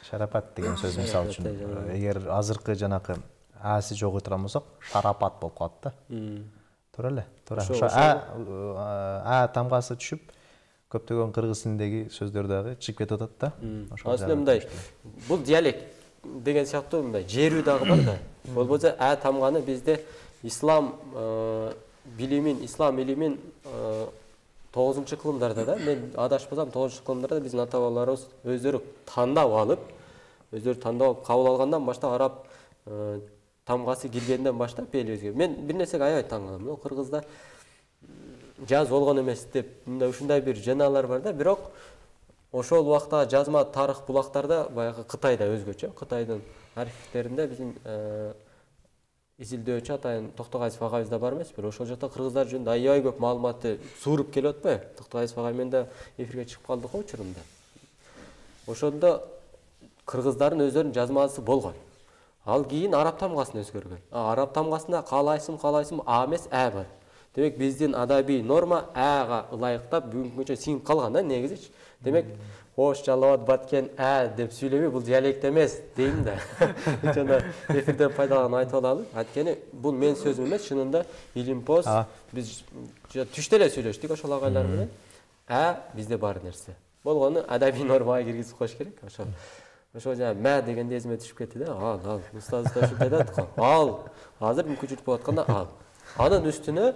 шарапат деген сөз мисалы үчүн. Эгер азыркы жанакы аси жок отурган болсок, шарапат болуп калат да. Туура эле, туура. Ошо а тамгасы түшүп, көптөгөн кыргыз тилиндеги сөздөр дагы чыгып кетип атат да. Ошол мындай, бул диалект деген сыяктуу мындай жерүү дагы бар да. Болбосо а тамганы бизде ислам билимин, ислам илимин тогузунчу кылымдарда да, мен адашпасам тогузунчу кылымдарда биздин ата бабаларыбыз өздөрү тандап алып, өздөрү тандап кабыл алгандан баштап араб тамгасы киргенден баштап элибизге. Мен бир нерсеге аябай таң калам. Кыргызда жаз болгон эмес деп мындай ушундай бир жаналар бар да, бирок ошол убакта жазма тарых булактарда баягы Кытайда өзгөчө. Кытайдын архивтеринде биздин изилдөөчү атайын Токтогайсов агайыбыз да бар эмеспи? Ошол жакта кыргыздар жөнүндө аябай көп маалыматты сууруп келип атпайбы? Токтогайсов агай менен да эфирге чыгып калдык го учурунда. Ошондо кыргыздардын өздөрүнүн жазмасы болгон. Ал кийин араб тамгасын өзгөргөн. Араб тамгасында калайсың, калайсың, а эмес ә бар. Демек биздин адабий норма ага ылайыктап бүгүнкү күнчө сиңип калган да негизичи. Демек Ош, Жалал абад, Баткен ә деп сүйлөбөй, бул диалект эмес дейм да. Ошондо эфирден пайдаланып айтып алалы. Анткени бул мен сөзүм эмес, чынында илимпоз биз түштө эле сүйлөштүк ошол агайлар менен. Ә бизде бар нерсе. Болгону адабий нормага киргизип коюш керек. Ошол Ошол жана мә дегенде эсиме түшүп кетти да. Ал, ал, устаз да ушинтип айтат го. Ал, азыр мүмкүнчүлүк болуп атканда ал. Анын үстүнө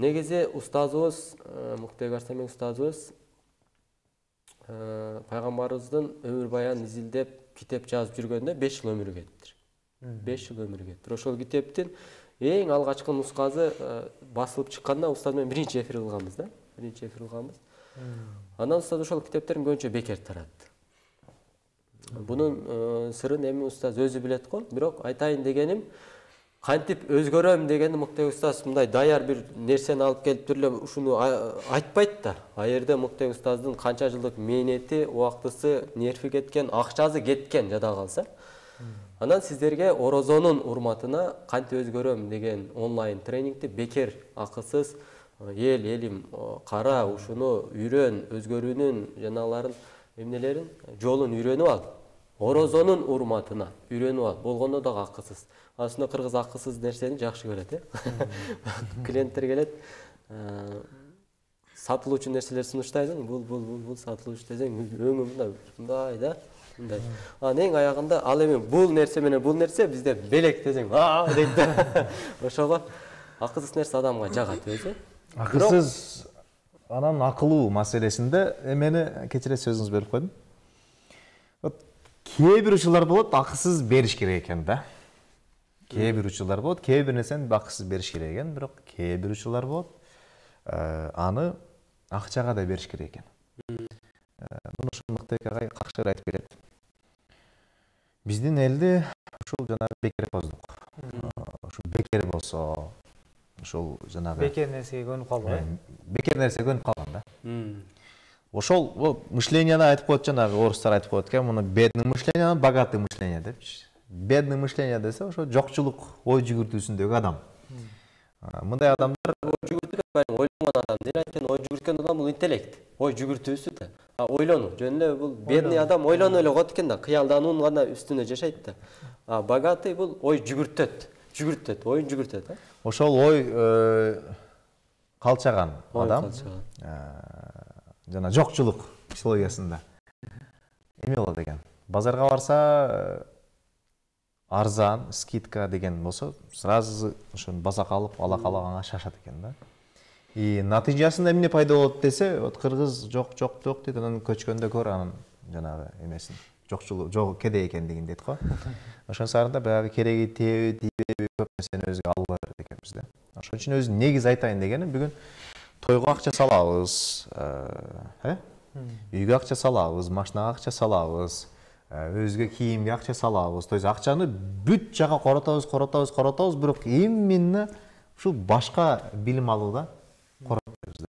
негизи устазыбыз, Муктайбек Арстанбек устазыбыз пайгамбарыбыздын өмүр баянын изилдеп, китеп жазып жүргөндө беш жыл өмүрү кетиптир. беш жыл өмүрү кетиптир. Ошол китептин эң алгачкы нускасы басылып чыкканда устаз менен биринчи эфир кылганбыз да. Биринчи эфир кылганбыз. Андан устаз ошол китептерин көбүнчө бекер таратты. Бунун сырын эми устаз өзү билет го, бирок айтайын дегеним, кантип өзгөрөм дегенди Муктай устаз мындай даяр бир нерсени алып келип туруп эле ушуну айтпайт да. А жерде Муктай устаздын канча жылдык мээнети, убактысы, нерви кеткен, акчасы кеткен жада калса. Анан сиздерге орозонун урматына кантип өзгөрөм деген онлайн тренингти бекер, акысыз эл элим кара, ушуну үйрөн, өзгөрүүнүн жаналарын эмнелерин, жолун үйрөнүп ал. Орозонун урматына үйрөнүп ал. Болгондо дагы акысыз. Аслында кыргыз акысыз нерсени жакшы көрөт, э. Клиенттер келет, сатылуучу нерселер сунуштайсың, бул бул бул бул сатылуучу десең, өңү мындай, мындай да, мындай. Анан эң аягында ал эми бул нерсе менен бул нерсе бизде белек десең, а дейт да. Ошого акысыз нерсе адамга жагат өзү. Акысыз анан акылуу маселесинде эмени кечире сөзүңүз бөлүп койдум. Вот кээ бир учурлар болот, акысыз бериш керек экен да. Кээ бир учурлар болот, кээ бир нерсени акысыз бериш керек экен, бирок кээ бир учурлар болот, аны акчага да бериш керек экен. Муну ушул Мыктай агай какшыр айтып келет. Биздин элде ушул жанагы бекерпоздук. Ушул бекер болсо, ошол жанагы бекер нерсеге көнүп калбай. Бекер нерсеге көнүп калган да. Ошол мышлениеде айтып коет, жанагы орустар айтып коет экен, муну бедный мышление, богатый мышление депчи. Бедный мышление десе, ошо жокчулук ой жүгүртүүсүндөгү адам. Мындай адамдар ой жүгүртүп ойлогон адам, деле айткен ой жүгүрткөн адам бул интеллект, ой жүгүртүүсү да. А ойлонуу, жөн эле бул бедный адам ойлоно эле коет экен да, кыялдануунун гана үстүнө жашайт да. А богатый бул ой жүгүртөт, жүгүртөт, оюн жүгүртөт, а. Ошол ой калчаган адам жана жокчулук психологиясында эме болот экен. Базарга барса арзан, скидка деген болсо, сразу ошону баса калып, ала калаганга шашат экен да. И натыйжасында эмне пайда болот десе, вот кыргыз жок, жок, жок дейт, анан көчкөндө көр анын жанагы эмесин, жокчулук, жок кедей экендигин дейт го. Ошон сарында баягы кереги тийби, тийбеби көп нерсени өзүгө алып берет экенбиз да. Ошон үчүн өзү негиз айтайын дегеним, бүгүн тойго акча салабыз, э? Үйгө акча салабыз, машинага акча салабыз, өзгө кийимге акча салабыз. То есть акчаны бүт жака коротобуз, коротобуз, коротобуз, бирок именно ушул башка билим алууда коротпойбуз.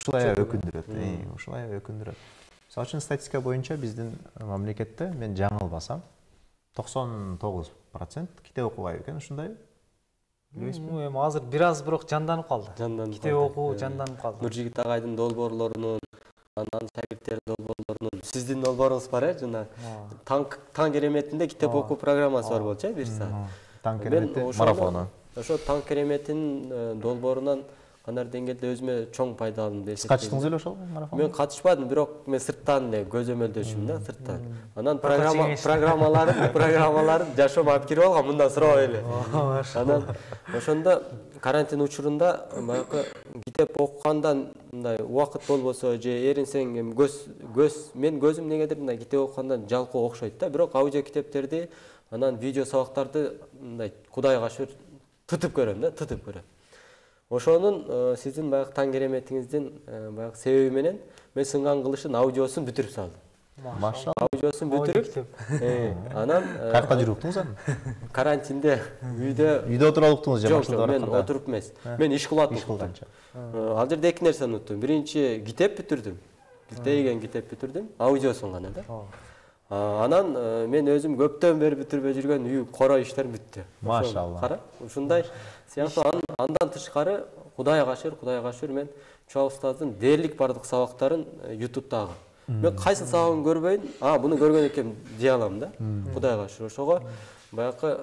Ушулай өкүндүрөт, ушулай өкүндүрөт. Мисалы үчүн статистика боюнча биздин мамлекетте, мен жаңылбасам, токсон тогуз процент китеп окубайбы экен, ушундай. Эми азыр бир аз бирок жанданып калды. Китеп окуу жанданып калды. Нуржигит агайдын долбоорлорунун, анан шагирттердин долбоорлорунун, сиздин долбооруңуз бар э, жана таң кереметинде китеп окуу программасы бар болчу э, бир саат. Таң керемети марафону. Ошо таң кереметинин долбоорунан кандай деңгээлде өзүмө чоң пайда алдым деп эсептейм. Катыштыңыз беле ошол марафонго? Мен катышпадым, бирок мен сырттан эле көзөмөлдөшүм да, сырттан. Анан программа программаларын, программаларын жашоом алып кирип алгам, мындан сурабай эле. Анан ошондо карантин учурунда баягы китеп окугандан мындай убакыт болбосо же эринсең эми көз көз мен көзүм негедир мындай китеп окугандан жалкоо окшойт да, бирок аудио китептерди, анан видео сабактарды мындай Кудайга шүр тытып көрөм да, тытып көрөм. Ошонун сиздин баягы таң кереметиңиздин баягы себеби менен мен сынган кылышын аудиосун бүтүрүп салдым. Машалла. Аудиосун бүтүрүп, анан каякта жүрүп уктуңуз аны? Карантинде үйдө үйдө отуруп уктуңуз же машинада барып? Мен отуруп эмес. Мен иш кылып аттым. Ал жерде эки нерсени уnuттум. Биринчи китеп бүтүрдүм. Билтейген китеп бүтүрдүм, аудиосун гана да. Анан мен өзүм көптөн бери бүтүрбөй жүргөн үй коро иштерим бүттү. Машалла. Кара, ушундай сыяктуу андан тышкары Кудайга шүр, Кудайга шүр мен Чуа устаздын дээрлик бардык сабактарын ютубтагы. Мен кайсы сабагын көрбөйүн, а буну көргөн экенмин дей алам да. Кудайга шүр. Ошого баягы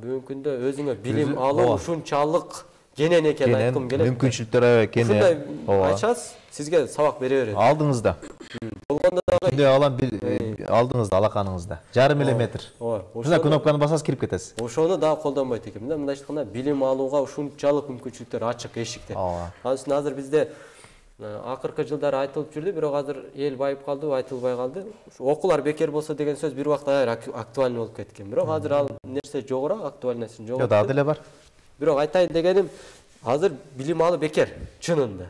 бүгүнкү күндө өзүңө билим алуу ушунчалык кенен экенин айткым келет. Мүмкүнчүлүктөр аябай кене. Ушундай айтасыз, сизге сабак бере берет. Алдыңызда. Болгондо дагы Күндө алам алдыңызда, алаканыңызда. Жарым миллиметр. Ушундай кнопканы басасыз, кирип кетесиз. Ошону дагы колдонбойт экенмин да. Мындай айтканда билим алууга ушунчалык мүмкүнчүлүктөр ачык эшиктер. Ал үчүн азыр бизде акыркы жылдары айтылып жүрдү, бирок азыр эл байып калды, айтылбай калды. Окуулар бекер болсо деген сөз бир убакта актуальный болуп кеткен. Бирок азыр ал нерсе жогорак, актуальныйсы жогорак. Жок, дагы деле бар. Бирок айтайын дегеним, азыр билим алуу бекер, чынында.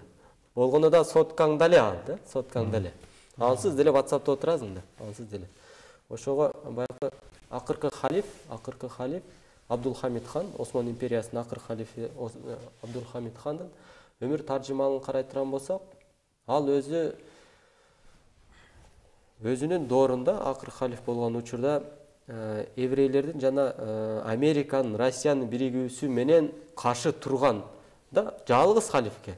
Болгондо да соткаң дале ал да, соткаң дале. Ансыз деле WhatsApp'та отурасың да, ансыз деле. Ошого баягы акыркы халиф, акыркы халиф Абдулхамид хан, Осман империясынын акыркы халифи Абдулхамид хандын өмүр таржымалын карай турган болсок, ал өзү өзүнүн доорунда акыркы халиф болгон учурда еврейлердин жана Американын, Россиянын биригүүсү менен каршы турган да жалгыз халиф экен,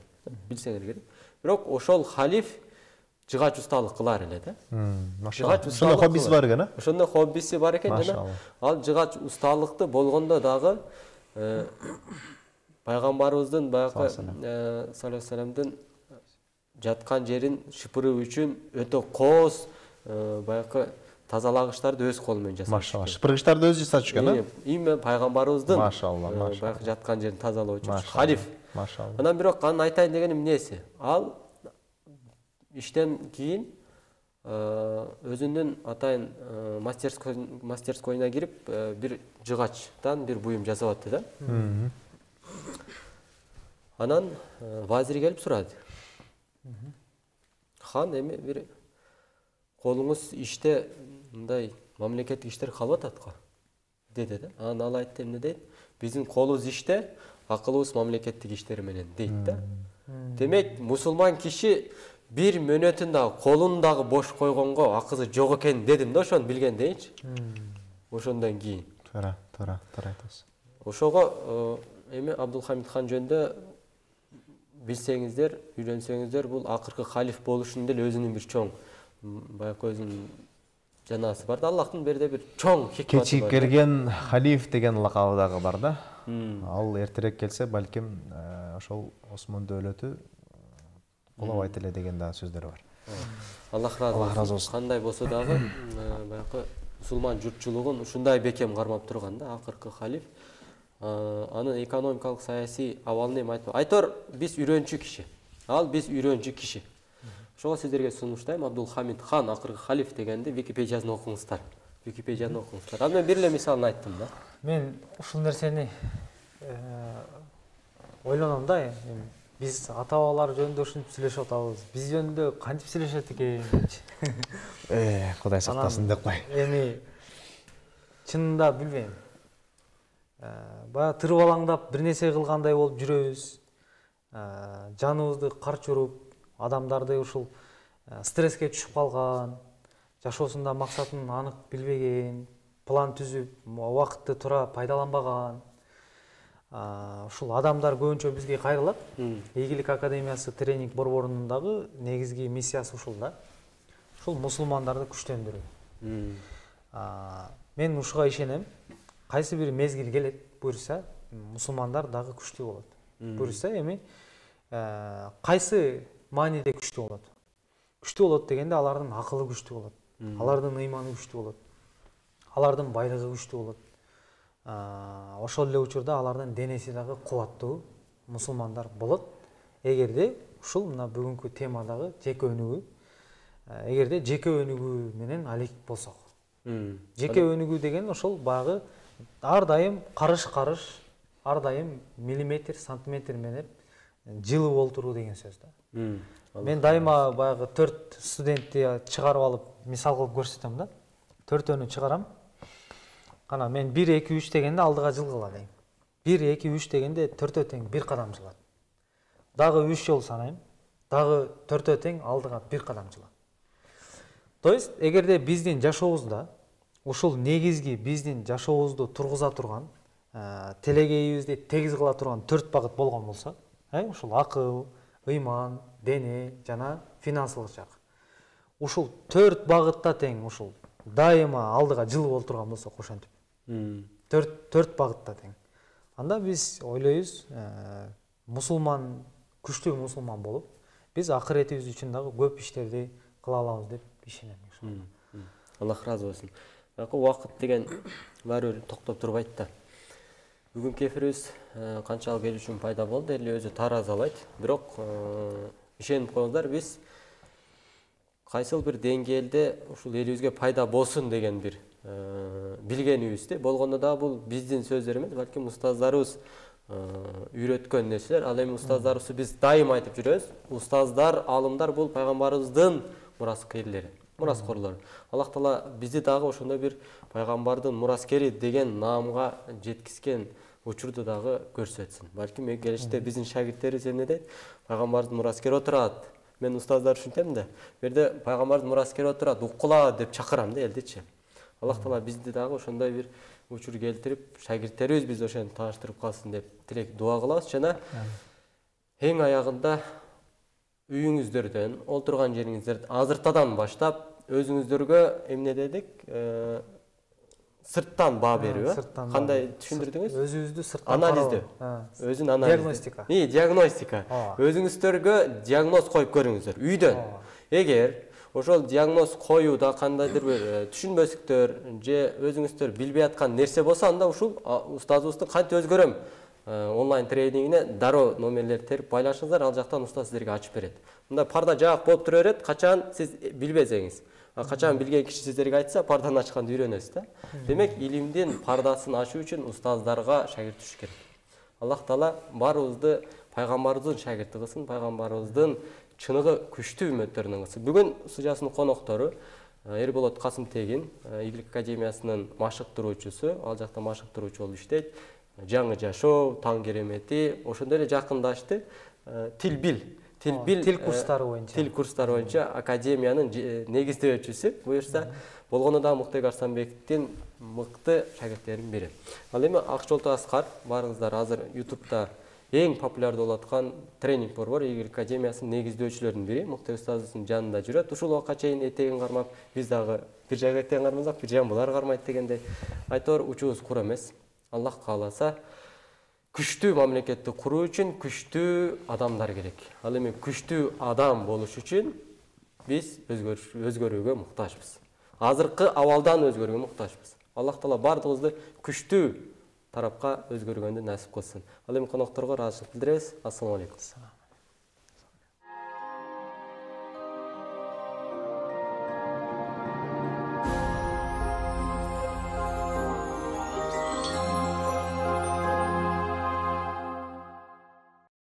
билсеңер керек. Бирок ошол халиф жыгач усталык кылар эле да. Жыгач ушундай хоббиси бар экен, а? Ошондой хоббиси бар экен жана ал жыгач усталыкты болгондо дагы пайгамбарыбыздын баягы саллаллаху алейхи вассаламдын жаткан жерин шыпыруу үчүн өтө кооз баягы тазалагычтарды өз колу менен жасап. Машалла. Шыпыргычтарды өзү жасап жүргөн, а? Эми пайгамбарыбыздын машалла, машалла. Баягы жаткан жерин тазалоо үчүн халиф. Машалла. Анан бирок анын айтайын деген эмнеси? Ал иштен кийин өзүнүн атайын мастерскойуна кирип бир жыгачтан бир буюм жасап атты да. Анан вазир келип сурады. Хан, эми бир колуңуз иште мындай мамлекеттик иштер калып атат го деди да. Анан ал айтты, эмне дейт? Биздин колубуз иште, акылыбыз мамлекеттик иштер менен дейт да. Демек, мусулман киши бир мөөнөтүн дагы колун дагы бош койгонго акысы жок экен дедим да, ошону билгендейинчи. Ошондон кийин. Туура, туура, туура айтасыз. Ошого эми Абдулхамид хан жөнүндө билсеңиздер, үйрөнсөңүздөр, бул акыркы халиф болушунун деле өзүнүн бир чоң баягы өзүнүн жанасы бар да. Аллахтын берде бир чоң хикматы бар. Кечип келген халиф деген лакабы дагы бар да. Ал эртерээк келсе, балким ошол Осман дөөлөтү кулабайт эле деген да сөздөр бар. Аллах разы болсун. Кандай болсо дагы баягы мусулман журтчулугун ушундай бекем кармап турган да акыркы халиф. Анын экономикалык саясий абалын эми айтпайм. Айтор биз үйрөнчү киши. Ал биз үйрөнчү киши. Ошого сиздерге сунуштайм, Абдулхамид хан акыркы халиф дегенди Википедияны окуңуздар. Википедияны окуңуздар. Ал мен бир эле мисалын айттым да. Мен ушул нерсени ойлоном да, эми биз ата-бабалар жөнүндө ушинтип сүйлөшүп атабыз. Биз жөнүндө кантип сүйлөшөт экен депчи. Э, Кудай сактасын деп кой. Эми чынында билбейм. Баягы тырып алаңдап бир нерсе кылгандай болуп жүрөбүз. Жаныбызды карч уруп, адамдарды ушул стресске түшүп калган, жашоосунда максатын анык билбеген, план түзүп, убакытты туура пайдаланбаган ушул адамдар көбүнчө бизге кайрылат. Ийгилик академиясы тренинг борборунун дагы негизги миссиясы ушул да. Ушул мусулмандарды күчтөндүрүү. Мен ушуга ишенем. Кайсы бир мезгил келет, буюрса, мусулмандар дагы күчтүү болот. Буюрса, эми кайсы мааниде күчтүү болот? Күчтүү болот дегенде алардын акылы күчтүү болот. Алардын ыйманы күчтүү болот. Алардын байлыгы күчтүү болот. Ошол эле учурда алардын денеси дагы кубаттуу мусулмандар болот. Эгерде ушул мына бүгүнкү темадагы жеке өнүгүү, эгерде жеке өнүгүү менен алек болсок. Жеке өнүгүү деген ошол баягы ар дайым карыш-карыш, ар дайым миллиметр, сантиметр менен жылып олтуруу деген сөз да. Мен дайыма баягы төрт студентти чыгарып алып мисал кылып көрсөтөм да. Төртөөнү чыгарам. Кана мен бир, эки, үч дегенде алдыга жылгыла дейм. бир, эки, үч дегенде төртөө тең бир кадам жылат. Дагы үч жол санайм. Дагы төртөө тең алдыга бир кадам жылат. То есть, эгерде биздин жашообузда ушул негизги биздин жашообузду тургуза турган, телегейибизди тегиз кыла турган төрт багыт болгон болсо, ушул акыл, ыйман, дене жана финансылык жак. Ушул төрт багытта тең ушул дайыма алдыга жылып олтурган болсок, ошентип. Төрт төрт багытта тең. Анда биз ойлойбуз, мусулман, күчтүү мусулман болуп, биз акыретибиз үчүн дагы көп иштерди кыла алабыз деп ишенем. Аллах разы болсун. Убакыт деген баары бир токтоп турбайт да. Бүгүнкү эфирибиз канчалык эл үчүн пайда болду, эл өзү таразалайт. Бирок ишенип коюңуздар, биз кайсыл бир деңгээлде ушул элибизге пайда болсун деген бир билгенибизде болгондо да бул биздин сөздөр эмес, балким устаздарыбыз үйрөткөн нерселер. Ал эми устаздарыбызды биз дайым айтып жүрөбүз. Устаздар, алымдар бул пайгамбарыбыздын мураскерлери. мураскорлор. Аллах Таала бизди дагы ошондой бир пайгамбардын мураскери деген наамга жеткизген учурду дагы көрсөтсүн. Балким келечекте биздин шагирттерибиз эмне дейт? Пайгамбардын мураскери отурат. Мен устаздар ушинтем да, бу жерде пайгамбардын мураскери отурат, уккула деп чакырам да элдичи. Аллах Таала бизди дагы ошондой бир учур келтирип, шагирттерибиз биз ошону тааныштырып калсын деп тилек дуа кылабыз. Жана эң аягында үйүңүздөрдөн, олтурган жериңиздерди азыртадан баштап өзүңүздөргө эмне дедик? Сырттан баа берүү, кандай түшүндүрдүңүз? Өзүбүздү сырттан анализдөө. Өзүн анализ. Диагностика. И, диагностика. Өзүңүздөргө диагноз коюп көрүңүздөр үйдөн. Эгер ошол диагноз коюуда кандайдыр бир түшүнбөстүктөр же өзүңүздөр билбей аткан нерсе болсо, анда ушул устазыбыздын кантип өзгөрөм онлайн тренингине дароо номерлерди терип байлашыңыздар, ал жактан устаз сиздерге ачып берет. Мындай парда жаак болуп тура берет, качан сиз билбесеңиз. Качан билген киши сиздерге айтса, парданы ачканды үйрөнөсүз да. Демек, илимдин пардасын ачуу үчүн устаздарга шагирт түшүш керек. Аллах Таала баарыбызды пайгамбарыбыздын шагирти кылсын, пайгамбарыбыздын чыныгы күчтүү үмөттөрүнөн кылсын. Бүгүн студиясынын коноктору Эрболот Касымтегин, Игилик академиясынын машыктыруучусу, ал жакта машыктыруучу болуп иштейт. Жаңы жашоо, таң керемети, ошондой эле жакындашты. Тил бил, тил бил, тил курстары боюнча. Тил курстары боюнча академиянын негиздөөчүсү. Буюрса, болгону да Муктайбек Арсанбековдин мыкты шагирттеринин бири. Ал эми Акчолту Аскар, баарыңыздар азыр ютубта эң популярдуу болуп аткан тренинг бар, Игилик академиясынын негиздөөчүлөрүнүн бири, Муктайбек устазыбыздын жанында жүрөт. Ушул убакка чейин этегин кармап, биз дагы бир жайга этегин кармасак, бир жайын булар кармайт дегендей. Айтор учубуз кур эмес. Аллах кааласа, күчтүү мамлекетти куруу үчүн күчтүү адамдар керек. Ал эми күчтүү адам болуш үчүн биз өзгөрүүгө муктажбыз. Азыркы абалдан өзгөрүүгө муктажбыз. Аллах Таала бардыгыбызды күчтүү тарапка өзгөргөндү насип кылсын. Ал эми конокторго ыраазычылык билдиребиз. Ассалому алейкум.